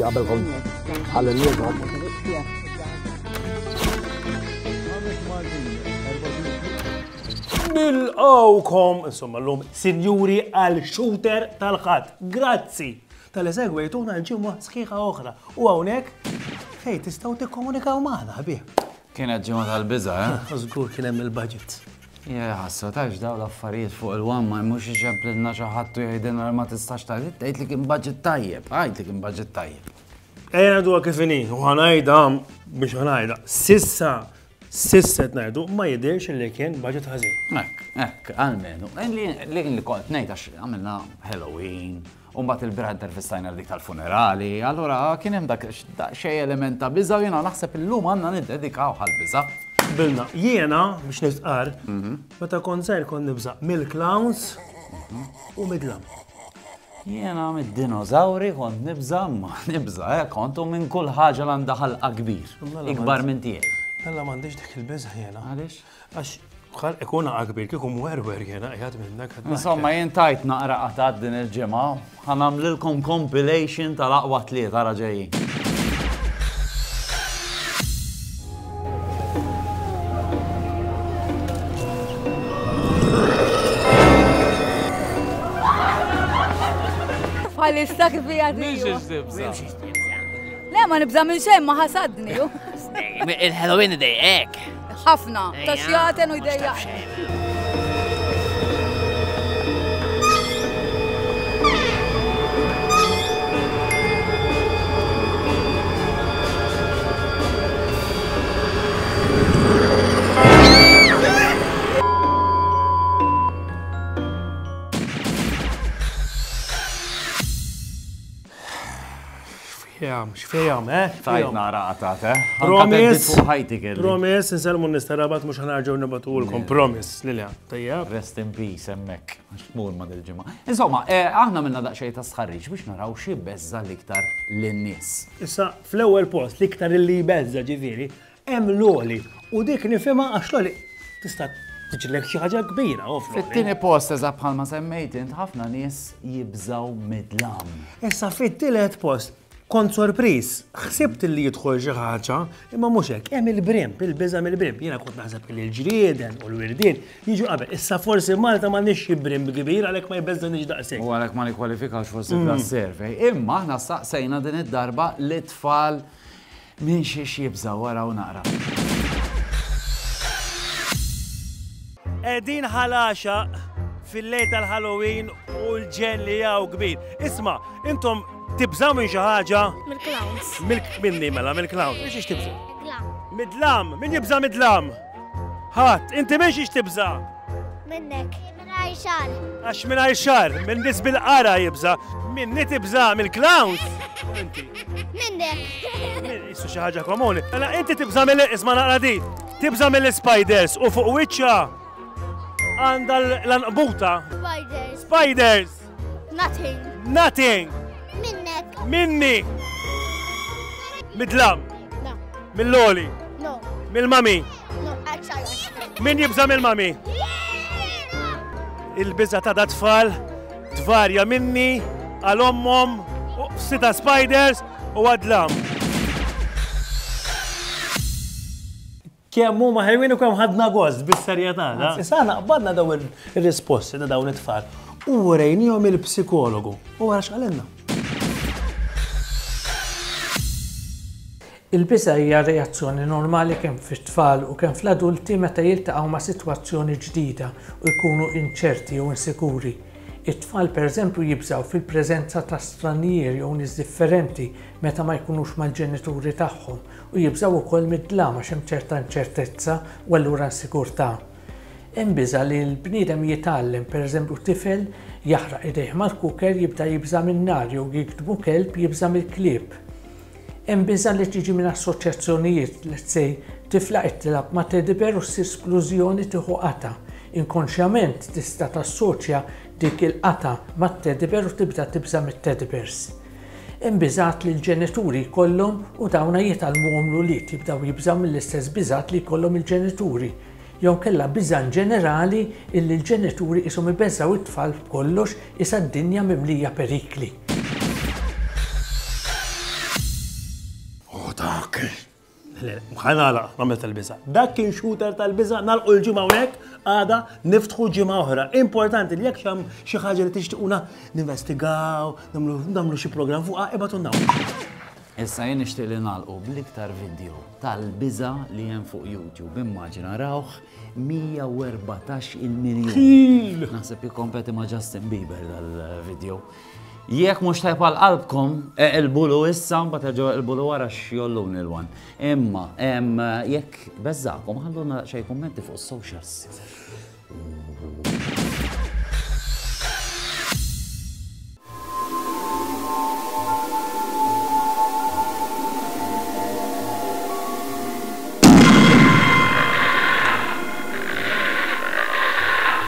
Qabel kont ħalli Nilqgħukom, insomma llum, sinjuri għal shooter tal-Ħadd. Grazzi tal-li segwejtuna l-ġimgħa sħiħa oħra. U hawnhekk fejn tistgħu tikkomunikaw magħna ħbieb. Kienet ġimgħa tal-biża', eh? Żgur kien hemm il-budget. Ja, ħassa tax daw l-affarijiet fuq il-wan ma mhux iċemplilna xi ħadd u jgħidilna li ma tistax tgħid, tgħid li kien budget tajjeb, għid li kien budget tajjeb. Ejja ngħiduha kif inhi, u ħa ngħidha biex ħa ngħidha. Sissa, sissa qed ngħidu ma jidhirx li kien budget ħażin. Hekk, hekk, almenu. Li li kont ngħid għax għamilna Halloween, u mbagħad il-bieraħ intervistajna dik tal-funerali, allura kien hemm dak xej element ta' biża' u jiena naħseb illum għandna niddedikaw għall-biża'. Bilna, jiena biex nistqarr, meta kont żgħir kont nibża' mill-clowns u mid-dlam. Jiena mid-dinożawri kont nibża' ma nibża' eh, kont u minn kull ħaġa li għandha ħalqa kbir, ikbar minn tiegħi. Alla m'għandix dik il-biża' jiena. Għaliex? Għax bħal ikun kbir kieku mwerwer jiena qiegħed minnek. Insomma, jien tajt naqra qatat din il-ġimgħa, ħa nagħmlilkom compilation tal-aqwa tlieta ara ġejjin. Bħalissa kif hija Le ma nibża' minn xejn ma ħasadni. Il-Halloween idejqek. Ħafna, ta' xjaten u jdejjaq. X'fiham, x'fiham, eh? Tajt nara qatat, eh? Promise, fuq ħajti kelli. Promise, insellmu n-nies ta' Rabat mhux ħanarġgħu nibgħatulkom. Promise, Lilian. Tajjeb. Rest in peace hemmhekk, għax tmur ma' dil-ġimgħa. Insomma, eh, aħna minna daqsxejn ta' stħarriġ biex naraw xi beżża l-iktar lin-nies. Issa, fl-ewwel post, l-iktar li jbeżża ġifieri, Hemm l-għoli u dik nifhimha għax l-għoli tista' tiġrilek xi ħaġa kbira u fl-għoli. Fit-tieni post eżatt bħalma semmejt int ħafna nies jibżgħu mid-dlam. Issa fit-tielet post kont sorpriż, ħsibt li jidħol xi ħaġa, imma mhux hekk, hemm il-brimb, il-biża' mill-brimb. Jiena kont naħseb li l-ġrieden u l-wirdien jiġu qabel. Issa forsi Malta m'għandniex xi brimb kbir għalhekk ma jbeżżaniex daqshekk. U għalhekk ma nikkwalifikax forsi f'das-survey. Imma aħna staqsejna din id-darba lit-tfal Minn xiex jibżgħu araw naqra. Qegħdin Ħal Għaxaq fil-lejl tal-Halloween u l-ġenn li hawn kbir. Isma', intom tibżgħu minn xi ħaġa? Mill-clowns. Minni mela, mill-clown. Minn xiex tibża'? Dlam. Mid-dlam. Min jibża' mid-dlam? Ħadd. Inti minn xiex tibża'? Minnek. Mingħajr xagħar. Għax mingħajr xagħar, minn nies bil-qara jibża'. Minni tibża' mill-clowns? Inti. Minnek. Issu xi ħaġa komuni. Mela inti tibża' mill isma' naqra di. Tibża' mill-spiders u fuq wiċċha għandha l-anqbuta. Spiders. Spiders. Nothing. Nothing. Minnek. Minni. Midlam. No. Mill-oli. No. Mill-mami. No, actually. Min jibża mill-mami? Il-biża ta' da tfal tvarja minni għal ommhom u sita spiders u għadlam. Kemm huma ħelwin u kemm ħadna gost bis-serjetà. Issa aħna qbadna dawn ir-risposti ta' dawn it-tfal u urejnihom il-psikologu. U ara x'qalilna. Il-biża' hija reazzjoni normali kemm fit-tfal u kemm fl-adulti meta jiltaqgħu ma' sitwazzjoni ġdida u jkunu inċerti jew insikuri. It-tfal pereżempju jibżgħu fil-preżenza ta' stranjieri jew nies differenti meta ma jkunux mal-ġenituri tagħhom u jibżgħu wkoll mid-dlam għax hemm ċerta inċertezza u allura insigurtà. Hemm biża' li l-bniedem jitgħallem, pereżempju tifel jaħraq idejh mal-cooker jibda jibża' min-nar jew jigdmu kelb jibża' mill-klieb. Hemm biża' li tiġi minn assoċjazzjonijiet, let's say tifla qed tilgħab ma' teddy bear u ssir splużjoni tieħu qatgħa. Inkonxjament tista' tassoċja dik il-qatgħa mat-teddy bear u tibda tibża' mit-teddy bears. Hemm biżgħat li l-ġenituri jkollhom u dawna jitgħallmuhom l-ulied, jibdew jibżgħu mill-istess biżgħat li jkollhom il-ġenituri. Jew inkella biża' inġenerali illi l-ġenituri qishom ibeżżgħu t-tfal b'kollox qisha d-dinja mimlija perikli. Dak Le, ħa nagħlaq, nagħmel tal-biża'. Dak kien shooter tal-biża', nagħlqu l-ġimgħa hawnhekk, għada niftħu ġimgħa oħra. Importanti li jekk hemm xi ħaġa li tixtiquna ninvestigaw, nagħmlu xi programm fuqha, ibgħatulna. Issa jien nixtieq li nagħlqu bl-iktar video tal-biża' li hemm fuq YouTube. Immaġina rawh 114 il-miljun. Naħseb jikkompeti ma' Justin Bieber dal-video. Jekk mhux tajb għal qalbkom, eqilbulu issa mbagħad erġgħu eqilbulu wara x'jolluni l-wan. Imma jekk beżżakom ħalluna xejn kummenti fuq is-socials.